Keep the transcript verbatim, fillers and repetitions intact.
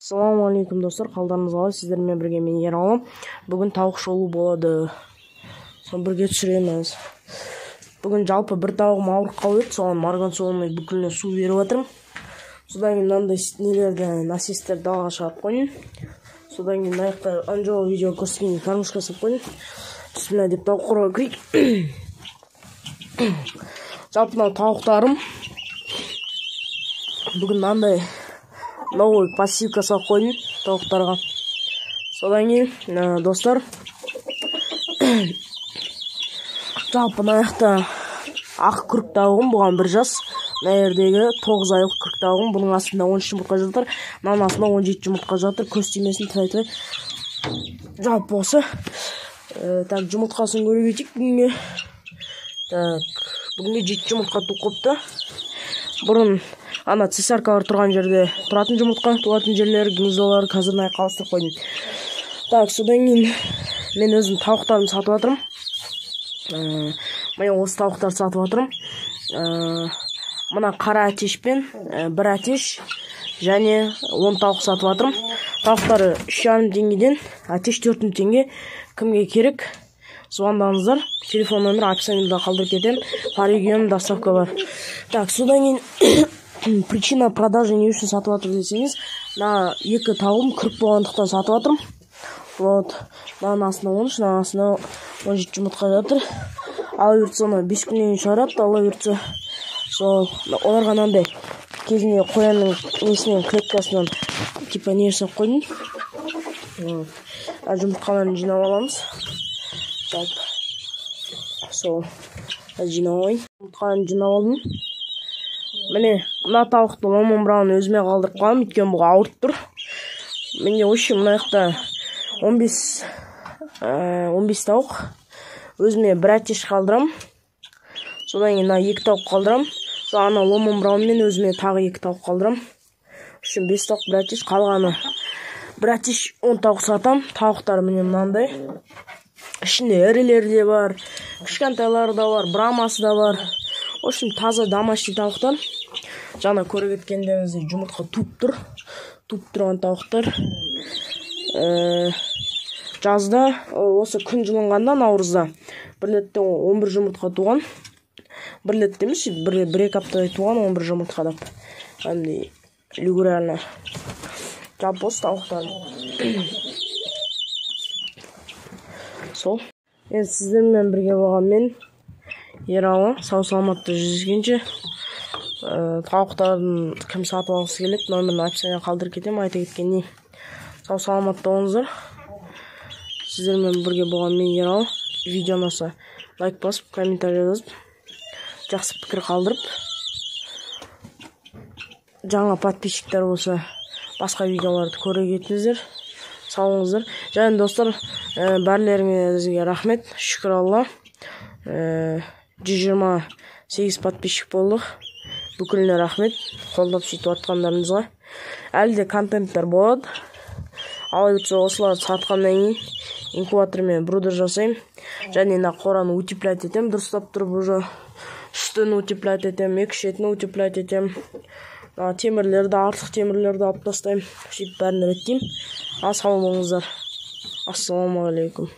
Assalamu alaikum достор, калдарыңыз калай? Сиздер менен бирге мен Ералым. Бүгүн тауык шоу болду. Соны бирге түшүрөбүз. Бүгүн жалпы бир тауыгым ауырып калып, сону марганцовный бүкүлүнө суу берип атырм. Содан кийин мындай нелерди, насестерди далга чыгарып койдум. Содан кийин аякта анжо видео көрсөткөн кормушка салып койдум. Бисмилля деп тауукка кирейик. Жалпы мына таууктарым бүгүн мындай новый пассивка салып койдум таууктарга. Содан кийин достор, жалпы мына жакта ак күрк таугум, буган бир жас. Мына жердеги тогуз айлык күрк таугум, бунун астында он үч жумуртка жатыр, мынанын астында он жети жумуртка жатыр. Көз тиймесин, тырай-тырай. Жалпы болсо, так жумурткасын көрүп кетейик бүгүнгү. Так, бүгүнгү жети жумуртка туп копту. Бурун ана цесаркалар турган жерде туратын жумуртка, тугатын жерлери, гнездолору азыр мына жака алыштырып койдум. Так, содан кийин мен өзүм таууктарымды сатып атырм. Мына осы таууктарды сатып атырм. Мына кара атешпен бир атеш және он тауук сатып атырм. Таууктары үч жарым теңгеден, атеш төрт миң теңге. Кимге керек? Звондаңыздар. Телефон номер описаниеда калтырып кетем. По региону доставка бар. Так, содан кийин причина продажи не үчүн сатып атыр десеңиз, мына эки таугум күрк болгондуктан сатып атырм. Вот, мынанын астында он үч, мынанын астында он жети жумуртка жатыр. Ала берсе аны беш күндөн кийин чыгарат, ала берсе сол оларга андай кезинде кояндын несинен, клеткасынан типа не жасап койдум. А жумурткаларын жыйнап аламыз. Так, сол жыйнап алайын. Жумурткаларын жыйнап алдым. Міне, мына тауыктун ломон бирауын өзүмө калдырып калдым, өйткөнү буга ауырып тур. Менде вообще мына жакта он беш таук. Өзүмө бир атеш калдырам. Содан кийин мына эки таук калдырам. Содан ана ломон бирауын менен өзүмө тагы эки таук калдырам. Үчүн беш таук, бир атеш, калганы бир атеш он таук сатам. Тауктар міне мынандай. Ичинде эрилери да бар, кичкентайлары да бар, брамасы да бар. В общем, таза домашний тауктар. Жана көрүп кеткендериңиздей жумуртка туп тур. Туп турган тауктар. Жазда, осы күн жылынганда, наурузда бир летте он бир жумуртка туган. Бир летте эмес, бир эки аптадай туган он бир жумуртка деп. Андай регулярно. Жалпы осы тауктар. Сол. Эми сиздер менен бирге болгон мен Ералы. Сау саламатта жүзгенче. Тауктардын ким сатып алгысы келет, номерин описанияга калтырып кетем. Айта кеткендей, сау саламатта болуңуздар. Сиздер менен бирге болгон мен Ералы. Видео унаса лайк басып, комментарий жазып, жакшы пикир калтырып, жаңы подписчиктер болсо башка видеолорду көрө кетиңиздер. Саулыңыздар. Жана достор, баарларыңызга рахмет. Шүкүр Алла. жүз жыйырма сегиз подписчик болдук. Бүкүлүнө рахмет. Колдоп сүйтүп аткандарыңызга. Әлі де контенттер болот. Ала берсе осуларды саткандан кийин инкубатор менен брудер жасайм. Және мына кораны утеплять этем, дурустап туруп уже. Үстүн утеплять этем, эки шетин утеплять этем. Темирлерди, артык темирлерди алып тастайм. Сүйтүп баарын иреттейм. А сау болуңуздар. Ассаламу алейкум.